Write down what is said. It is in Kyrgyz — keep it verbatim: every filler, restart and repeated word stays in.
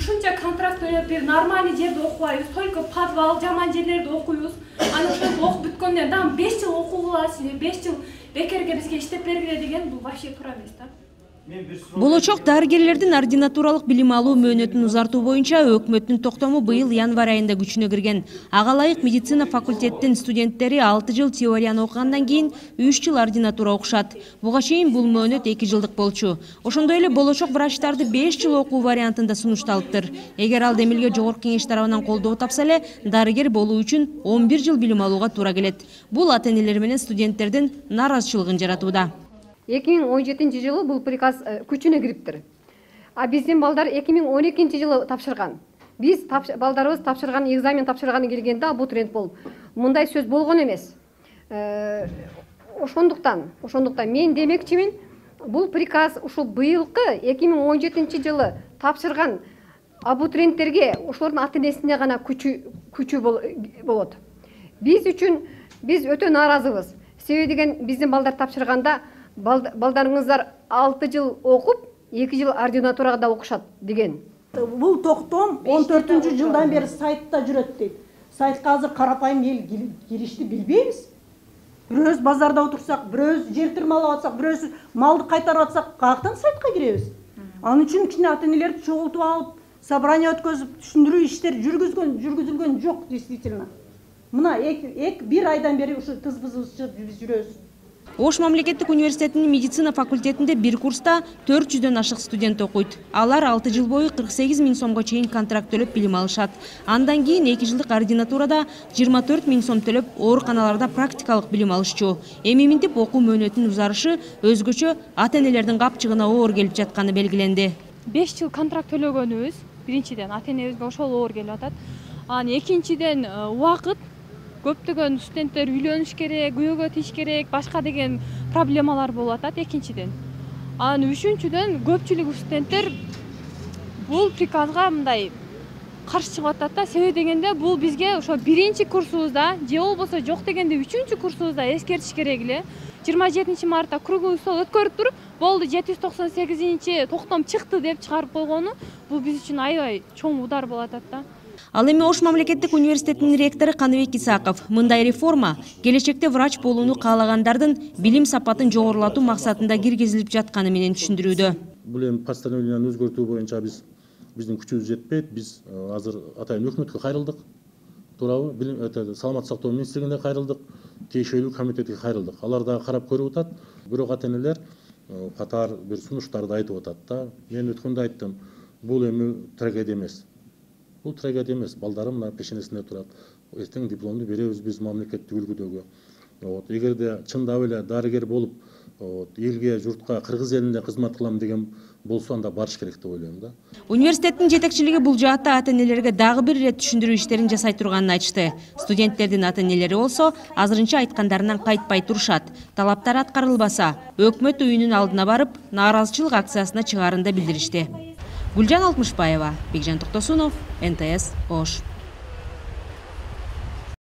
ушунча контракт төлөп бир нормальный жерде окубайбыз, только подвал, жаман жерлерде окуйбуз. Анан ошентип окуп бүткөндөн дагы беш жыл окуу кыласыз, беш жыл бекерге бизге иштеп бергиле деген бул вообще туура эмес да. Болочок дарыгерлердин ординатуралык билим алуу мөөнөтүн узартуу боюнча өкмөттүн токтому быйыл январь айында күчүнө кирген. Ага ылайык медицина факультеттин студенттери алты жыл теорияны окугандан кийин үч жыл ординатура окушат. Буга чейин бул мөөнөт эки жылдык болчу. Ошондой эле болочок врачтарды беш жыл окуу вариантында сунушталыптыр. Эгер ал демилге жогорку кеңеш тарабынан колдоо тапса эле, дарыгер болуу үчүн он бир жыл билим алууга туура келет. Бул ата-энелер менен студенттердин нааразычылыгын жаратууда. эки миң он жетинчи жылы бул приказ күчүнө кириптир. А биздин балдар эки миң он экинчи жылы тапшырган. Биз балдарыбыз тапшырган, экзамен тапшырганы келгенде абутурент болуп, мындай сөз болгон эмес. Ошондуктан, ошондуктан мен демекчимин, бул приказ ушул быйылкы эки миң он жетинчи жылы тапшырган абутуренттерге, ошолордун ата-энесине гана күчү күчү болот. Биз үчүн биз өтө нааразыбыз. Себеби деген биздин балдар тапшырганда балдарыңыздар алты жыл окуп, эки жыл ординатурада да окушат деген. Бул токтом он төртүнчү жылдан бери сайтта жүрөт дейт. Сайтка азыр карапайым эл киришти билбейбиз. Бирөөбүз базарда отурсак, бирөөбүз жер тырмалап атсак, бирөөбүз малды кайтарып атсак, каяктан сайтка киребиз? Анын үчүн кичине ата-энелерди чогултуп алып, собрание өткөзүп, түшүндүрүү иштер жүргүзгөн, жүргүзүлгөн жок действительно. Мына бир айдан бери ушу тыз-бызыбыз биз жүрөбүз. Ош мамлекеттик университетинин медицина факультетинде бир курста төрт жүздөн ашык студент окуйт. Алар алты жыл бою кырк сегиз миң сомго чейин контракт төлөп билим алышат. Андан кийин эки жылдык ординатурада жыйырма төрт миң сом төлөп ооруканаларда практикалык билим алышчу. Эми минтип окуу мөөнөтүнүн узарышы өзгөчө ата-энелердин капчыгына оор келип жатканы белгиленди. беш жыл контракт төлөгөнүбүз биринчиден ата-энебизге ошол оор келип атат. Анан экинчиден убакыт, көптөгөн студенттер үйлөнүш керек, күйөөгө тийиш керек, башка деген проблемалар болуп атат экинчиден. Анан үчүнчүдөн көпчүлүк студенттер бул приказга мындай каршы чыгып атат да. Себеби дегенде бул бизге ошо биринчи курсубузда же болбосо жок дегенде үчүнчү курсубузда эскертиш керек эле. жыйырма жетинчи мартта круговой стол өткөрүп туруп, болду жети жүз токсон сегизинчи токтом чыкты деп чыгарып койгону бул биз үчүн аябай чоң удар болуп атат да. Ал эми Ош мамлекеттик университетинин ректору Каныбек Исаков мындай реформа келечекте врач болууну каалагандардын билим сапатын жогорулатуу максатында киргизилип жатканы менен түшүндүрүүдө. Бул эми постановленияны өзгөртүү боюнча биз биздин күчүбүз жетпейт. Биз азыр атайын өкмөткө кайрылдык. Туурабы? Билим саламаттык сактоо министрлигине кайрылдык, тиешелүү комитетке кайрылдык. Алар дагы карап көрүп атат. Бирок ата-энелер катар бир сунуштарды айтып атат да. Мен өткөндө айттым, бул эми трагедия эмес. Бул трагедия эмес. Балдарым мына пешенесинде турат. Эртең дипломду беребиз биз мамлекеттик үлгүдөгү. Вот, эгерде чындап эле дарыгер болуп, вот, элге, журтка, кыргыз элине кызмат кылам деген болсо анда барыш керек деп ойлойм да. Университеттин жетекчилиги бул жаатта ата-энелерге дагы бир ирет түшүндүрүү иштерин жасай турганын айтышты. Студенттердин ата-энелери болсо азырынча айткандарынан кайтпай турушат. Талаптар аткарылбаса, өкмөт үйүнүн алдына барып, нааразычылык акциясына чыгарын да билдиришти. Гүлжан Алтмышбаева, Бекжан Токтосунов, эн тэ эс Ош.